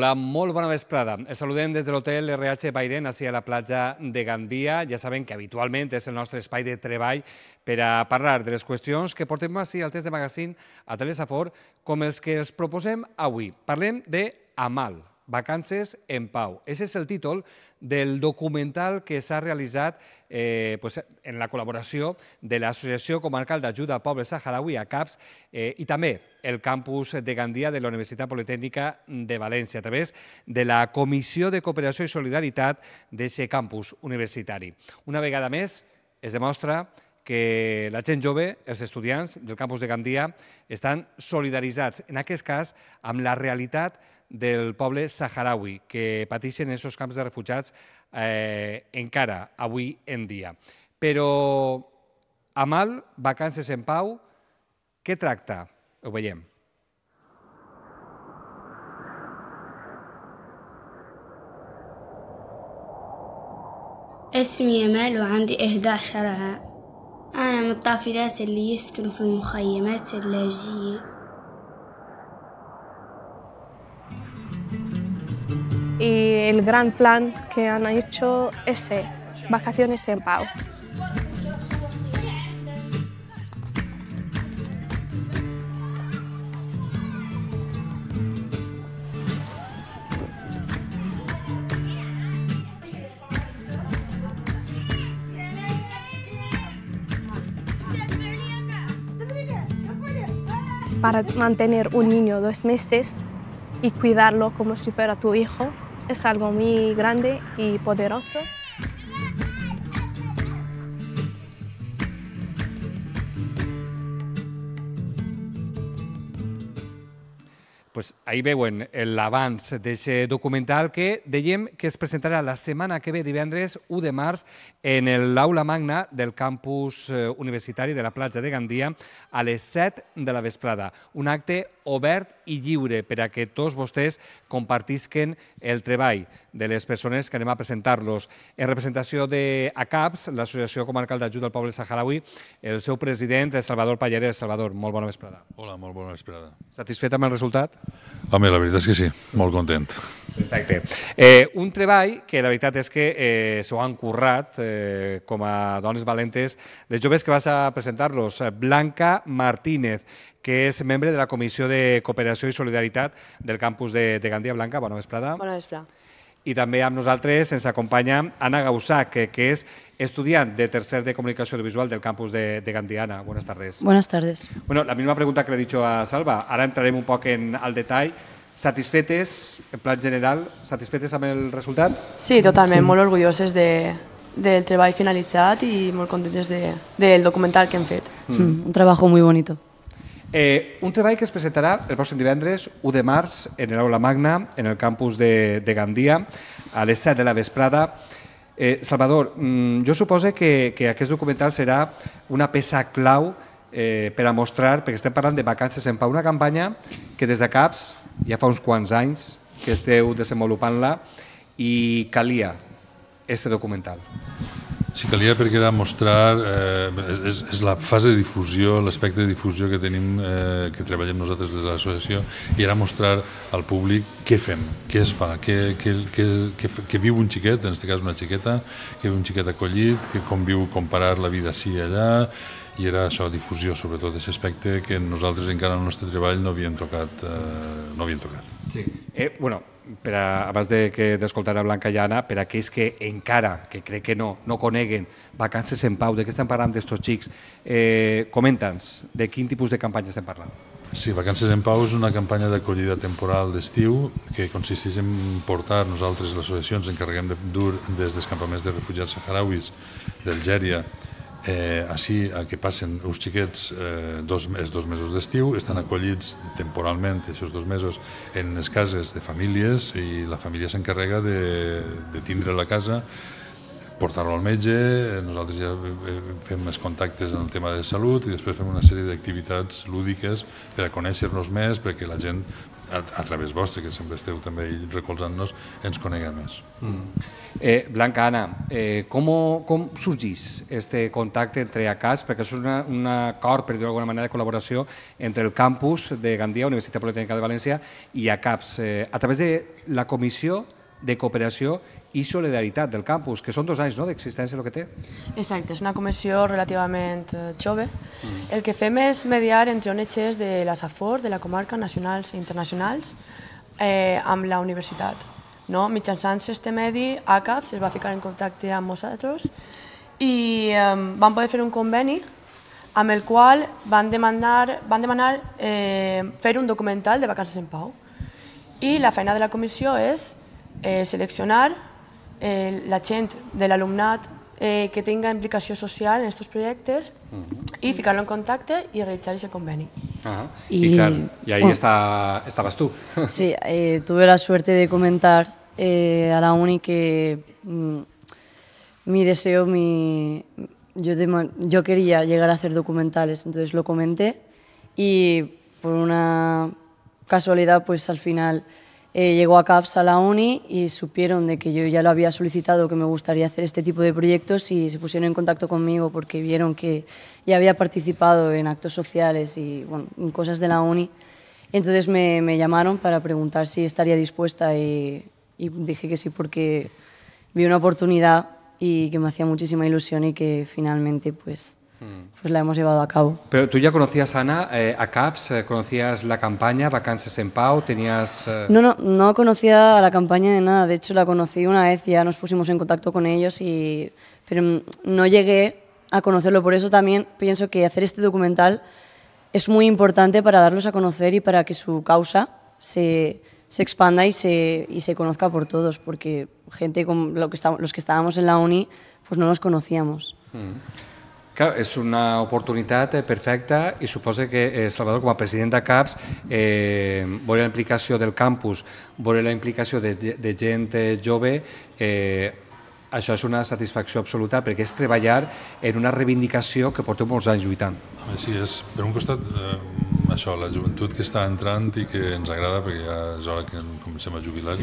Hola, molt bona vesprada. Els saludem des de l'hotel RH Bairen, ací a la platja de Gandia. Ja saben que habitualment és el nostre espai de treball per a parlar de les qüestions que portem ací al test de magazín a Telesafor, com els que els proposem avui. Parlem d'Amal, Vacances en Pau. Aquest és el títol del documental que s'ha realitzat en la col·laboració de l'Associació Comarcal d'Ajuda al Poble Saharaui, ACAPS, i també el campus de Gandia de la Universitat Politècnica de València, a través de la Comissió de Cooperació i Solidaritat d'aquest campus universitari. Una vegada més, es demostra que la gent jove, els estudiants del campus de Gandia, estan solidaritzats, en aquest cas, amb la realitat del poble saharaui, que pateixen en aquests camps de refugiats encara avui en dia. Però Amal, Vacances en Pau, què tracta? Ho veiem. اسمي أمال وعندي 11 عام. أنا من الطافلات اللي يسكنوا في المخيمات اللاجئة. Y el gran plan que han hecho es Vacaciones en Pau. Para mantener un niño 2 meses y cuidarlo como si fuera tu hijo es algo muy grande y poderoso. Pues ahí veuen l'abans d'aquest documental que dèiem que es presentarà la setmana que ve, divendres 1 de març, en l'aula magna del campus universitari de la platja de Gandia a les 7 de la vesprada. Un acte obert i lliure per a que tots vostès compartisquen el treball de les persones que anem a presentar-los. En representació d'ACAPS, l'Associació Comarcal d'Ajuda al Poble Saharaui, el seu president, Salvador Pallarès. Salvador, molt bona vesprada. Hola, molt bona vesprada. Satisfet amb el resultat? Home, la veritat és que sí, molt content. Perfecte. Un treball que la veritat és que s'ho han currat com a dones valentes les joves que vas a presentar-los. Blanca Martínez, que és membre de la Comissió de Cooperació i Solidaritat del campus de Gandia. Blanca, bona vesprada. Bona vesprada. I també amb nosaltres ens acompanya Ana Gaussac, que és estudiant de tercer de Comunicació Audiovisual del campus de Gandia. Ana, buenas tardes. Buenas tardes. Bueno, la misma pregunta que le he dicho a Salva. Ara entrarem un poc al detall. Satisfetes, en plan general, satisfetes amb el resultat? Sí, totalment, molt orgulloses del treball finalitzat i molt contentes del documental que hem fet. Un trabajo muy bonito. Un treball que es presentarà el pròxim divendres 1 de març en l'aula magna, en el campus de Gandia, a les 7 de la vesprada. Salvador, jo suposo que aquest documental serà una peça clau per a mostrar, perquè estem parlant de Vacances en Pau, una campanya que des de CAPS ja fa uns quants anys que esteu desenvolupant-la i calia aquest documental. Sí, calia perquè era mostrar, és la fase de difusió, l'aspecte de difusió que tenim, que treballem nosaltres des de l'associació, i era mostrar al públic què fem, què es fa, que viu un xiquet, en aquest cas una xiqueta, que viu un xiquet acollit, que com viu comparar la vida així i allà, i era això, difusió, sobretot, aquest aspecte que nosaltres encara en el nostre treball no havíem tocat. Sí. Bueno, abans d'escoltar a Blanca i Anna, per a aquells que encara, que crec que no coneguen Vacances en Pau, de què estem parlant d'estos xics, comenta'ns de quin tipus de campanya estem parlant. Sí, Vacances en Pau és una campanya d'acollida temporal d'estiu que consisteix en portar, nosaltres, l'associació, ens encarreguem de dur des dels campaments de refugiats saharauis d'Algèria així que passen els xiquets els 2 mesos d'estiu, estan acollits temporalment aquests 2 mesos en les cases de famílies i la família s'encarrega de tindre la casa portar-lo al metge, nosaltres ja fem més contactes en el tema de salut i després fem una sèrie d'activitats lúdiques per a conèixer-nos més, perquè la gent, a través vostre, que sempre esteu també recolzant-nos, ens conega més. Blanca, Anna, com sorgís este contacte entre ACAPS? Perquè això és un acord, per dir-ho d'alguna manera, de col·laboració entre el campus de Gandia, Universitat Politècnica de València, i ACAPS, a través de la Comissió de Cooperació i Solidaritat del campus, que són 2 anys d'existència el que té. Exacte, és una comissió relativament jove. El que fem és mediar entre ONGs de la Safor, de la comarca, nacionals i internacionals, amb la universitat. Mitjançant aquest medi, ACAPS es va ficar en contacte amb nosaltres i vam poder fer un conveni amb el qual van demanar fer un documental de vacances en pau. I la feina de la comissió és seleccionar la gent de l'alumnat que tinga implicació social en aquests projectes i ficar-lo en contacte i realitzar aquest conveni. Y ahí estabas tú. Sí, tuve la suerte de comentar a la uni que mi deseo, yo quería llegar a hacer documentales, entonces lo comenté y por una casualidad pues al final llegó ACAPS a la uni y supieron de que yo ya lo había solicitado, que me gustaría hacer este tipo de proyectos y se pusieron en contacto conmigo porque vieron que ya había participado en actos sociales y bueno, en cosas de la uni. Entonces me llamaron para preguntar si estaría dispuesta y dije que sí porque vi una oportunidad y que me hacía muchísima ilusión y que finalmente pues la hemos llevado a cabo. Pero tú ya conocías, Ana, ACAPS, conocías la campaña Vacances en Pau, tenías... No conocía a la campaña de nada, de hecho la conocí una vez y ya nos pusimos en contacto con ellos, pero no llegué a conocerlo, por eso también pienso que hacer este documental es muy importante para darlos a conocer y para que su causa se expanda y se conozca por todos, porque gente como los que estábamos en la uni pues no nos conocíamos. Clar, és una oportunitat perfecta i suposo que Salvador, com a president d'ACAPS, veure la implicació del campus, veure la implicació de gent jove, això és una satisfacció absoluta perquè és treballar en una reivindicació que porteu molts anys lluitant. Sí, és per un costat això, la joventut que està entrant i que ens agrada perquè ja és hora que comencem a jubilar.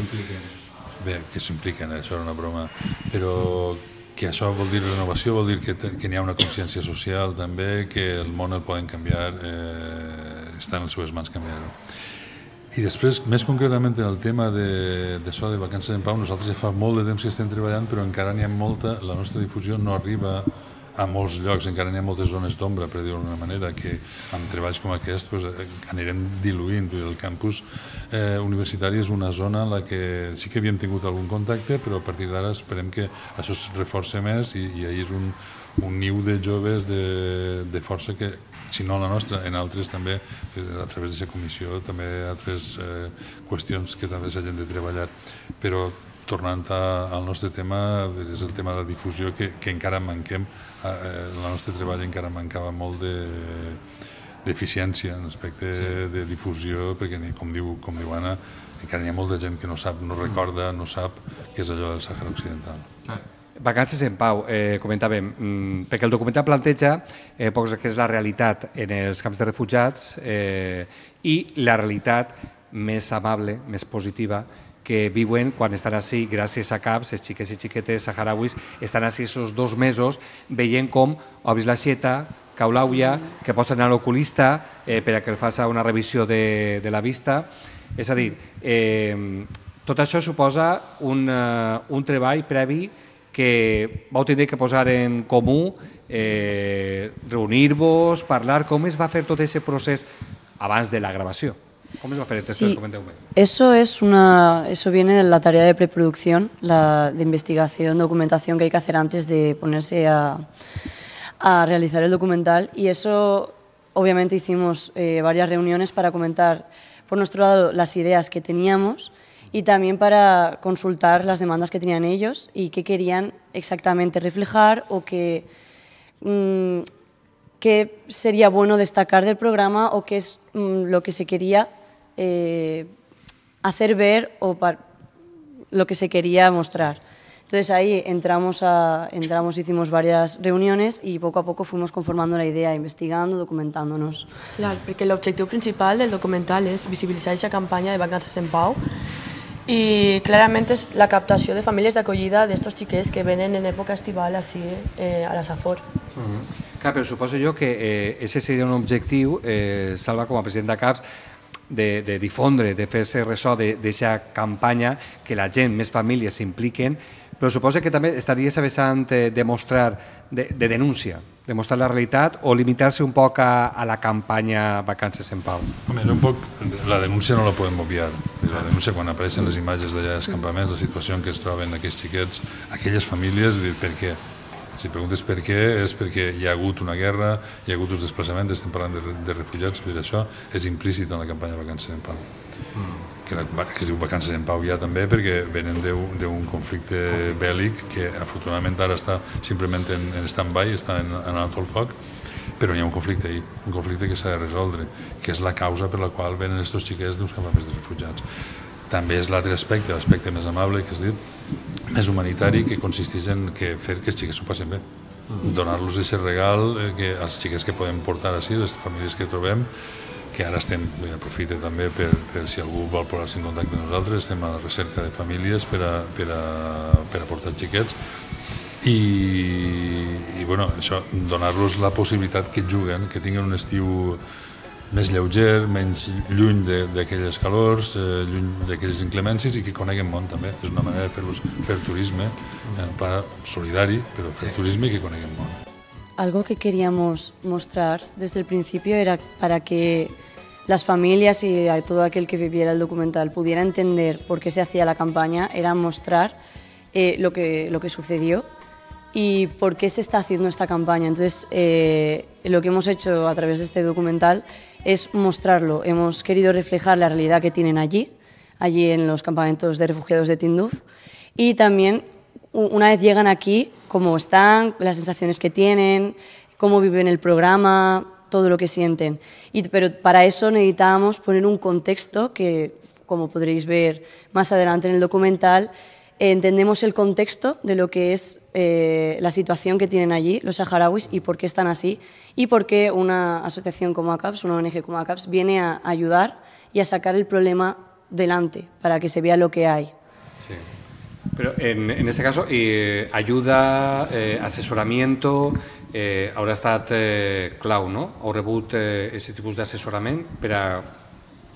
Bé, que s'impliquen, això era una broma, però que això vol dir renovació, vol dir que n'hi ha una consciència social també, que el món el poden canviar, està en les seves mans canviar-ho. I després, més concretament en el tema de Vacances en Pau, nosaltres ja fa molt de temps que estem treballant, però encara n'hi ha molta, la nostra difusió no arriba a molts llocs, encara n'hi ha moltes zones d'ombra, per dir-ho d'una manera, que amb treballs com aquest anirem diluint. El campus universitari és una zona en la que sí que havíem tingut algun contacte, però a partir d'ara esperem que això es reforça més i ahir és un niu de joves de força que, si no la nostra, en altres també, a través d'aquesta comissió, també altres qüestions que també s'hagin de treballar. Però tornant al nostre tema, és el tema de la difusió que encara manquem. El nostre treball encara mancava molt d'eficiència en l'aspecte de difusió, perquè, com diu Anna, encara hi ha molta gent que no sap, no recorda, no sap què és allò del Sàhara Occidental. Vacances en Pau, comentàvem, perquè el documental planteja que és la realitat en els camps de refugiats i la realitat més amable, més positiva, que viuen quan estan així, gràcies a CAPS, els xiquets i xiquetes saharauis, estan així aquests 2 mesos veient com obris l'aixeta, cau l'aulla, que pots anar a l'oculista per a que el faci una revisió de la vista. És a dir, tot això suposa un treball previ que vau tenir que posar en comú, reunir-vos, parlar. Com es va fer tot aquest procés abans de la gravació? ¿Cómo se va a hacer este Sí, eso viene de la tarea de preproducción, de investigación, documentación que hay que hacer antes de ponerse a realizar el documental. Y eso, obviamente, hicimos varias reuniones para comentar, por nuestro lado, las ideas que teníamos y también para consultar las demandas que tenían ellos y qué querían exactamente reflejar o qué sería bueno destacar del programa o qué es lo que se quería hacer ver o lo que se quería mostrar. Entonces ahí entramos, hicimos varias reuniones y poco a poco fuimos conformando la idea, investigando, documentándonos. Clar, perquè l'objectiu principal del documental és visibilitzar aquesta campanya de vacances en pau i clarament és la captació de famílies d'acollida d'estos xiquets que venen en època estival així a la Safor. Clar, però suposo jo que ese seria un objectiu, Salva, com a president de CAPS, de difondre, de fer-se ressò d'aquesta campanya, que la gent, més famílies s'impliquen, però suposo que també estaria a vessant de mostrar, de denúncia, de mostrar la realitat o limitar-se un poc a la campanya Vacances en Pau? Home, un poc, la denúncia no la podem obviar. La denúncia, quan apareixen les imatges d'allà dels campaments, la situació en què es troben aquells xiquets, aquelles famílies, per què? Si preguntes per què, és perquè hi ha hagut una guerra, hi ha hagut uns desplaçaments, estem parlant de refugiats, però això és implícit en la campanya Vacances en Pau. Que es diu Vacances en Pau ja també perquè venen d'un conflicte bèl·lic que afortunadament ara està simplement en stand-by, està en alto el foc, però hi ha un conflicte ahí, un conflicte que s'ha de resoldre, que és la causa per la qual venen aquests xiquets d'uns campaments de refugiats. També és l'altre aspecte, l'aspecte més amable, que has dit, més humanitari, que consisteix en fer que els xiquets s'ho passin bé. Donar-los aquest regal als xiquets que podem portar així, les famílies que trobem, que ara estem, aprofite també per si algú vol posar-se en contacte amb nosaltres, estem a la recerca de famílies per a portar xiquets i bueno, això, donar-los la possibilitat que juguen, que tinguin un estiu més lleuger, menys lluny d'aquelles calors, lluny d'aquelles inclemències i que coneguen món també. És una manera de fer turisme, en pla solidari, però fer turisme i que coneguen món. Algo que queríamos mostrar desde el principio era para que las familias y a todo aquel que viviera el documental pudiera entender por qué se hacía la campaña, era mostrar lo que sucedió y por qué se está haciendo esta campaña. Entonces, lo que hemos hecho a través de este documental es mostrarlo. Hemos querido reflejar la realidad que tienen allí en los campamentos de refugiados de Tinduf, y también, una vez llegan aquí, cómo están, las sensaciones que tienen, cómo viven el programa, todo lo que sienten. Pero para eso necesitábamos poner un contexto que, como podréis ver más adelante en el documental, entendemos el contexto de lo que es la situación que tienen allí los saharauis y por qué están así y por qué una asociación como ACAPS, una ONG como ACAPS, viene a ayudar y a sacar el problema delante para que se vea lo que hay. Sí. Pero en este caso, ayuda, asesoramiento, haurà estat clau, no? Heu rebut aquest tipus d'assessorament per a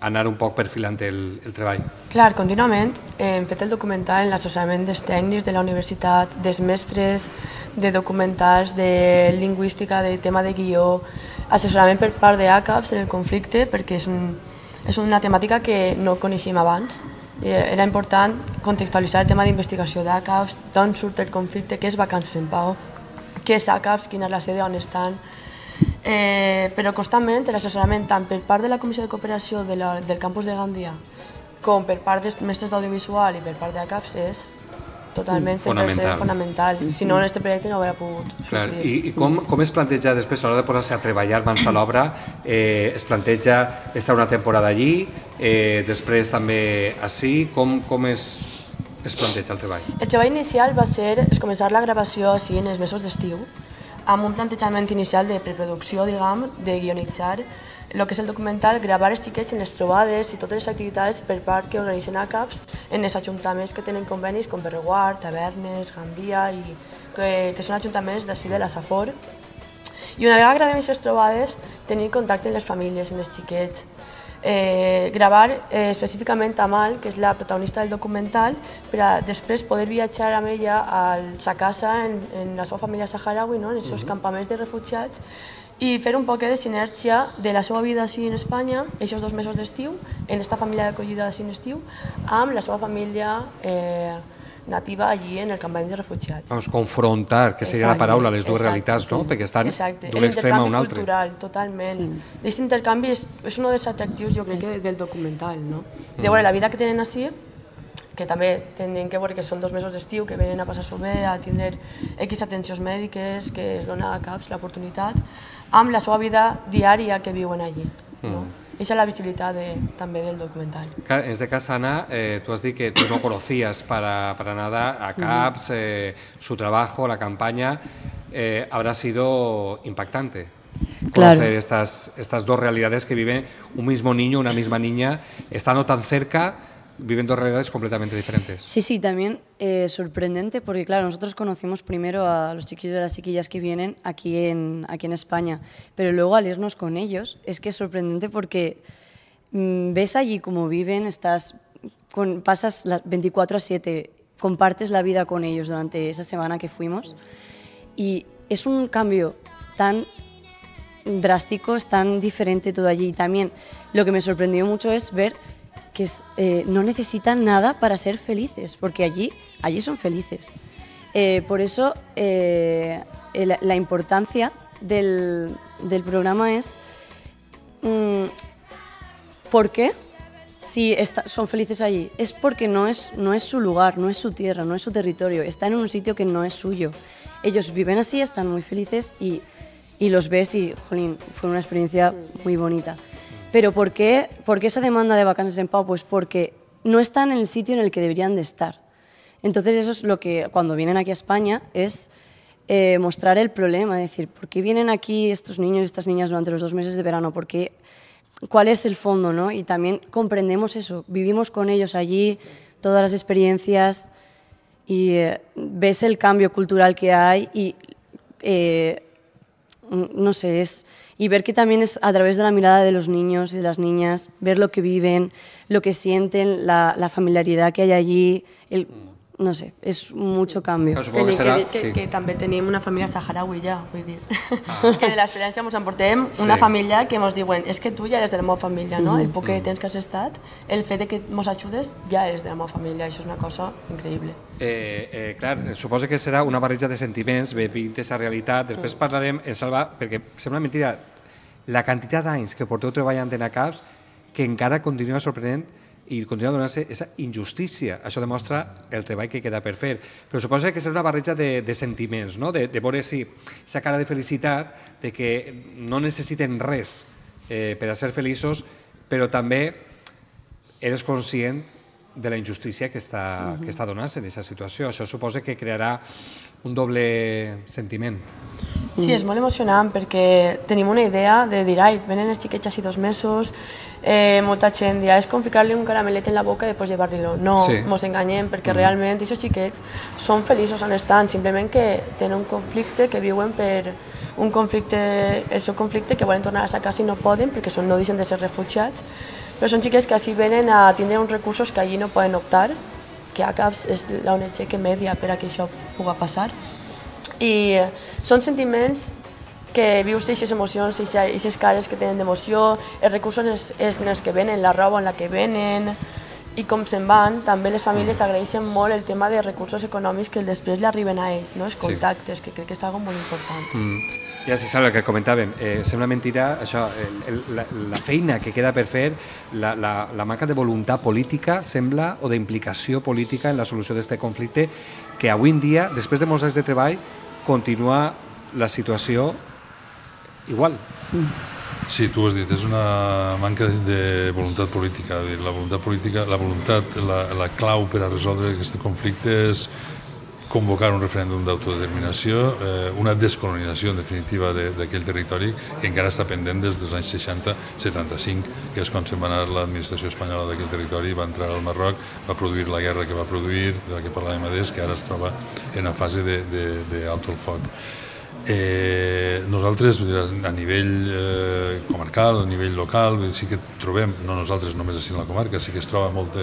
anar un poc perfilant el treball. Clar, contínuament hem fet el documental en l'assessorament dels tècnics de la universitat, dels mestres, de documentals, de lingüística, de tema de guió, assessorament per part d'ACAPS en el conflicte, perquè és una temàtica que no coneixíem abans. Era important contextualitzar el tema d'investigació d'ACAPS, d'on surt el conflicte, què és Vacances en Pau, què és ACAPS, quina és la sede, on estan. Però constantment l'assessorament tant per part de la Comissió de Cooperació del campus de Gandia com per part dels mestres d'audiovisual i per part d'ACAPS és totalment fonamental. Si no, aquest projecte no hauria pogut sortir. I com es planteja després, a l'hora de posar-se a treballar mans a l'obra, es planteja estar una temporada allí, després també ací, com es planteja el treball? El treball inicial va ser començar la gravació així en els mesos d'estiu, amb un plantejament inicial de preproducció, diguem, de guionitzar el que és el documental, gravar els xiquets en les trobades i totes les activitats per part que organitzen ACAPS en els ajuntaments que tenen convenis com Berreguard, Tavernes, Gandia, i que són ajuntaments d'ací de la Safor. I una vegada gravem aquestes trobades, tenir contacte amb les famílies, amb els xiquets, gravar específicament Amal, que és la protagonista del documental, per a després poder viatjar amb ella a sa casa, en la seva família saharaui, en els seus campaments de refugiats, i fer un poc de sinergia de la seva vida així en Espanya, aquests 2 mesos d'estiu, en aquesta família d'acollida així en estiu, amb la seva família nativa allí en el campament de refugiats. Vamos, confrontar, que seria la paraula, les dues realitats, no? Perquè estan d'un extrem a un altre. Cultural, totalment. Aquest intercanvi és un dels atractius, jo crec, del documental, no? De veure la vida que tenen així, que també tenen que veure que són 2 mesos d'estiu, que venen a passar-s'ho bé, a tindre X atencions mèdiques, que es dona a CAPS l'oportunitat, amb la seva vida diària que viuen allí. Esa es la visibilitat també del documental. En este caso, Ana, tú has dicho que tú no conocías para nada a CAPS, su trabajo, la campaña. Habrá sido impactante conocer estas dos realidades que vive un mismo niño, una misma niña, estando tan cerca, viven dos realidades completamente diferentes. Sí, también sorprendente porque, claro, nosotros conocimos primero a los chiquillos y a las chiquillas que vienen aquí en España, pero luego al irnos con ellos es que es sorprendente porque ves allí cómo viven, pasas las 24/7, compartes la vida con ellos durante esa semana que fuimos y es un cambio tan drástico, es tan diferente todo allí. Y también lo que me sorprendió mucho es ver que no necesitan nada para ser felices, porque allí son felices. Por eso la importancia del programa es ¿por qué? Si son felices allí, es porque no es su lugar, no es su tierra, no es su territorio, están en un sitio que no es suyo. Ellos viven así, están muy felices y los ves y, jolín, fue una experiencia muy bonita. Pero ¿por qué esa demanda de vacances en Pau? Pues porque no están en el sitio en el que deberían de estar. Entonces eso es lo que, cuando vienen aquí a España, es mostrar el problema, es decir, ¿por qué vienen aquí estos niños y estas niñas durante los 2 meses de verano? ¿Cuál es el fondo, ¿no? Y también comprendemos eso, vivimos con ellos allí, todas las experiencias, y ves el cambio cultural que hay y, no sé, y ver que también es a través de la mirada de los niños y de las niñas, ver lo que viven, lo que sienten, la familiaridad que hay allí, no sé, és mucho cambio. Que també tenim una família saharaui ja, vull dir. Que de l'experiència ens emportem una família que ens diuen és que tu ja eres de la meva família, no? El poc que temps que has estat, el fet que ens ajudes, ja eres de la meva família, això és una cosa increïble. Clar, suposo que serà una barreja de sentiments, vivint aquesta realitat. Després parlarem, Salva, perquè sembla mentida, la quantitat d'anys que porteu treballant en ACAPS que encara continua sorprenent i continua donant-se aquesta injustícia. Això demostra el treball que queda per fer. Però suposo que serà una barreja de sentiments, no? De veure si aquesta cara de felicitat, de que no necessiten res per a ser feliços, però també eres conscient de la injustícia que està donant-se en aquesta situació. Això suposa que crearà un doble sentiment. Sí, és molt emocionant perquè tenim una idea de dir, ai, venen els xiquets així 2 mesos, molta gent dirà, és com ficar-li un caramelet en la boca i després llevar-li-lo. No, ens enganyem perquè realment aquests xiquets són feliços on estan, simplement que tenen un conflicte, que viuen per un conflicte, el seu conflicte, que volen tornar a sa casa i no poden perquè no deixen de ser refugiats, però són xiquets que així venen a tindre uns recursos que allí no poden optar, que ACAPS és l'ONG que media per a que això pugui passar. I són sentiments que vius aquestes emocions, aquestes cares que tenen d'emoció, els recursos en els que venen, la roba en la que venen i com se'n van. També les famílies agraeixen molt el tema de recursos econòmics que després li arriben a ells, els contactes, que crec que és una cosa molt important. Ja sí, Salva, el que comentàvem, sembla mentira això, la feina que queda per fer, la manca de voluntat política, sembla, o d'implicació política en la solució d'aquest conflicte, que avui en dia, després de molts anys de treball, continua la situació igual. Sí, tu has dit, és una manca de voluntat política. La voluntat política, la clau per a resoldre aquest conflicte és convocar un referèndum d'autodeterminació, una descolonització en definitiva d'aquell territori que encara està pendent des dels anys 60-75, que és quan se'n va anar l'administració espanyola d'aquell territori, va entrar al Marroc, va produir la guerra que va produir, de la que parlàvem abans, que ara es troba en una fase d'alto el foc. Nosaltres, a nivell comarcal, a nivell local, sí que trobem, no nosaltres només així en la comarca, sí que es troba molt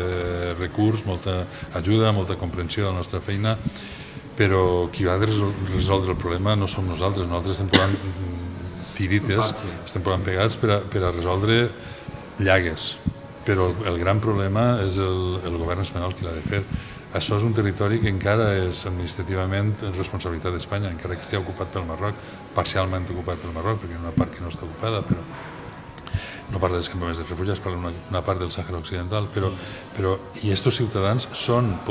recurs, molta ajuda, molta comprensió de la nostra feina, però qui ha de resoldre el problema no som nosaltres estem posant tirites, estem posant pegats per a resoldre llagues, però el gran problema és el govern espanyol qui l'ha de fer. Això és un territori que encara és administrativament responsabilitat d'Espanya, encara que estigui ocupat pel Marroc, parcialment ocupat pel Marroc, perquè hi ha una part que no està ocupada, però no parla dels campaments de refugiats, parla d'una part del Sàhara Occidental, i aquests ciutadans són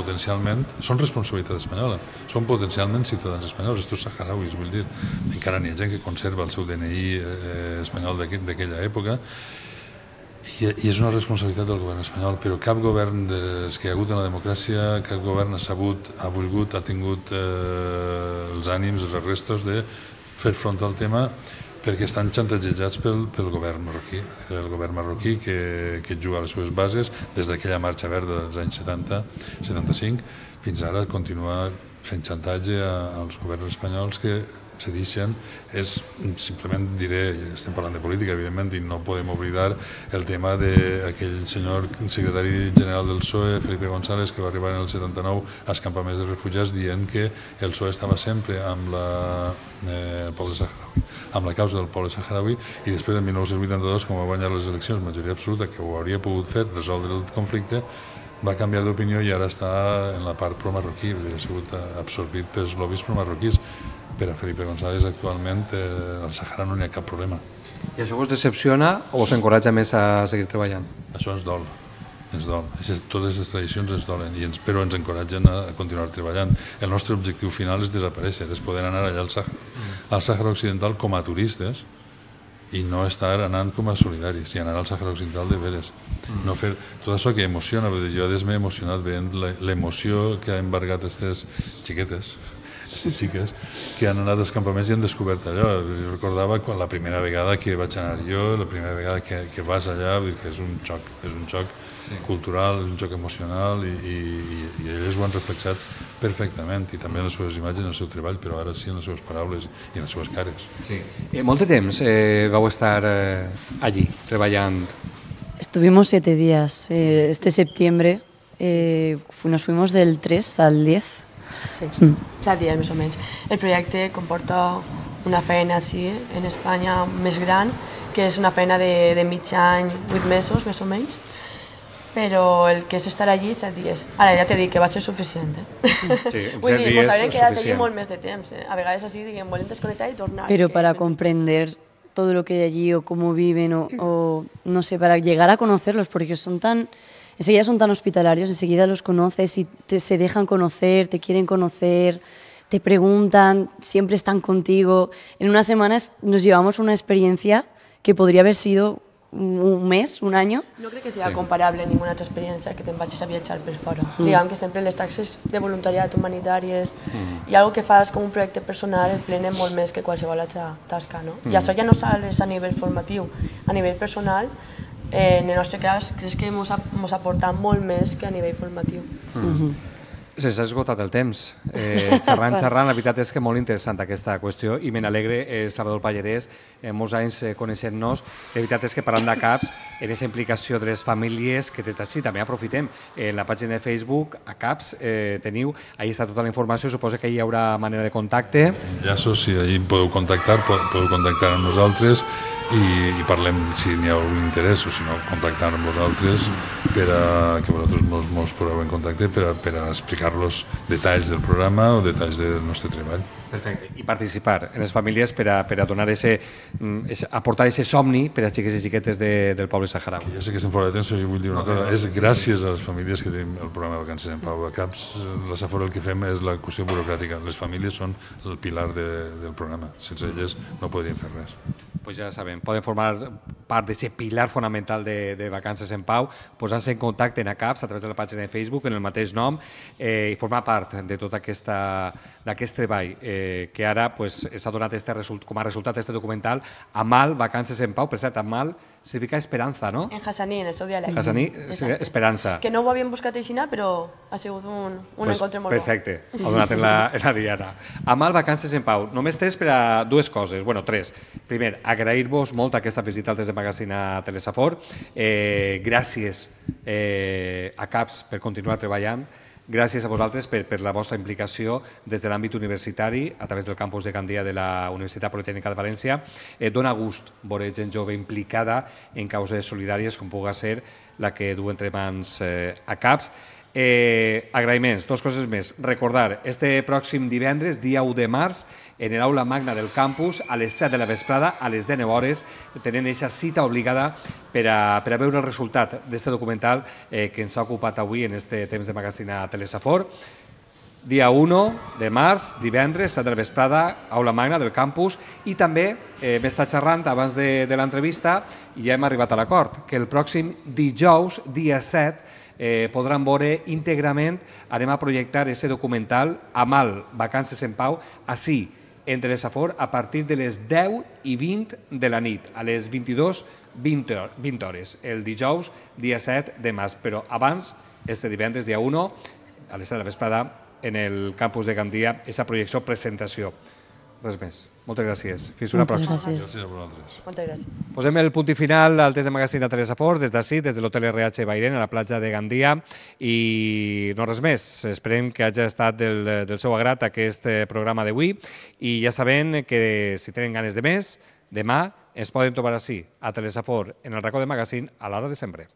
responsabilitat espanyola, són potencialment ciutadans espanyols, aquests saharauis, vull dir, encara n'hi ha gent que conserva el seu DNI espanyol d'aquella època, I és una responsabilitat del govern espanyol, però cap govern que hi ha hagut en la democràcia, cap govern ha sabut, ha volgut, ha tingut els ànims, els restos de fer front al tema, perquè estan xantatejats pel govern marroquí. El govern marroquí que juga a les seves bases des d'aquella marxa verda dels anys 70-75 fins ara continua fent xantatge als governs espanyols que cedixen. Simplement diré, estem parlant de política evidentment, i no podem oblidar el tema d'aquell senyor secretari general del PSOE, Felipe González, que va arribar en el 79 als campaments de refugiats dient que el PSOE estava sempre amb el poble saharaui, amb la causa del poble saharaui, i després en 1982, com va guanyar les eleccions, majoria absoluta, que ho hauria pogut fer, resoldre el conflicte, va canviar d'opinió i ara està en la part pro-marroquí, ha sigut absorbit pels lobbies pro-marroquís. Per a Felipe González actualment al Sàhara no n'hi ha cap problema. I això vos decepciona o us encoratja més a seguir treballant? Això ens dol, ens dol. Totes les tradicions ens dolen, però ens encoratgen a continuar treballant. El nostre objectiu final és desaparèixer, és poder anar allà al Sàhara Occidental com a turistes i no estar anant com a solidaris, i anar al Sàhara Occidental de veres. No fer tot això que emociona, jo m'he emocionat veient l'emoció que ha embargat aquestes xiquetes, aquestes xiques que han anat als campaments i han descobert allò. Jo recordava la primera vegada que vaig anar jo, la primera vegada que vas allà, que és un xoc cultural, és un xoc emocional, i elles ho han reflexat perfectament, i també en les seves imatges, en el seu treball, però ara sí en les seves paraules i en les seves cares. Molt de temps vau estar allí, treballant? Estuvimos 7 días. Este septiembre nos fuimos del 3 al 10. Sí, 7 dies més o menys. El projecte comporta una feina així en Espanya més gran, que és una feina de mig any, 8 mesos més o menys, però el que és estar allí 7 dies. Ara ja t'he dit que va ser suficient. Sí, vull dir, ens haurem quedat allí molt més de temps. A vegades així, diguem, volem desconnectar i tornar. Pero para comprender todo lo que hay allí o cómo viven o no sé, para llegar a conocerlos, porque enseguida son tan hospitalarios, enseguida los conoces y se dejan conocer, te quieren conocer, te preguntan, siempre están contigo. En unas semanas nos llevamos una experiencia que podría haber sido un mes, un año. No crec que sigui comparable a ninguna altra experiència que te'n vagis a viatjar per fora. Diguem que sempre les taxes de voluntariat humanitàries i algo que fas com un projecte personal el plenen molt més que qualsevol altra tasca, no? I això ja no sols a nivell formatiu, a nivell personal, en el nostre cas, crec que ens ha aportat molt més que a nivell formatiu. S'ha esgotat el temps. Xerrant, la veritat és que molt interessant aquesta qüestió i me n'alegre, Salvador Pallarès, molts anys coneixent-nos. La veritat és que parlant de CAPS, en aquesta implicació de les famílies, que des d'ací també aprofitem, en la pàgina de Facebook, a CAPS, teniu, ahí està tota la informació, suposo que hi haurà manera de contacte. Enllaços, si ahí podeu contactar amb nosaltres i parlem si n'hi ha algun interès o si no, contactar amb vosaltres que vosaltres mos poseu en contacte per a explicar-los detalls del programa o detalls del nostre treball. Perfecte. I participar en les famílies per a donar aportar aquest somni per a xiques i xiquetes del poble saharaui. Ja sé que estem fora de temps, però jo vull dir una cosa. És gràcies a les famílies que tenim el programa Vacances en Pau. A CAPS, la Safor el que fem és la qüestió burocràtica. Les famílies són el pilar del programa. Sense elles no podríem fer res. Pues ja sabem, poden formar part d'aquest pilar fonamental de Vacances en Pau, posant-se en contacte en CAPS a través de la pàgina de Facebook, en el mateix nom, i formar part de tot aquest treball que ara s'ha donat com a resultat d'aquest documental Amal, Vacances en Pau. Per cert, Amal significa esperança, no? En hassaní, en el seu dialecte. Hassaní, esperança. Que no ho havíem buscat així, però ha sigut un encontre molt bo. Perfecte, ho ha donat en la Diana. Amal, Vacances en Pau. Només tres per a dues coses, bueno, tres. Primer, agrair-vos molt aquesta visita al Test de Magazine a Telesafor. Gràcies a CAPS per continuar treballant. Gràcies a vosaltres per la vostra implicació des de l'àmbit universitari a través del campus de Gandia de la Universitat Politècnica de València. Dóna gust veure gent jove implicada en causes solidàries com pugui ser la que du entre mans a CAPS. Agraïments, dues coses més. Recordar, este pròxim divendres, dia 1 de març, en l'aula magna del campus, a les 7 de la vesprada, a les 19 hores, tenen aquesta cita obligada per a veure el resultat d'aquest documental que ens ha ocupat avui en aquest temps de magazine a Telesafor. dia 1 de març, divendres, 7 de la vesprada, aula magna del campus, i també m'he estat xerrant abans de l'entrevista i ja hem arribat a l'acord, que el pròxim dijous, dia 7, podran veure íntegrament, anem a projectar aquest documental Amal, Vacances en Pau, així, entre la Safor, a partir de les 10:20 de la nit, a les 22:20 hores, el dijous, dia 7 de març, però abans, este divendres, dia 1, a les 7 de la vesprada, en el campus de Gandia, aquesta projecció, presentació. Res més. Moltes gràcies. Fins una pròxima. Gràcies. Gràcies a vosaltres. Moltes gràcies. Posem el punt i final al test de magazín de Teresa Fort, des d'ací, des de l'hotel RH Bairén, a la platja de Gandia, i no res més. Esperem que hagi estat del seu agrat aquest programa d'avui, i ja sabem que si tenen ganes de més, demà ens poden trobar així, a Teresa Fort, en el racó de magazín, a l'hora de sempre.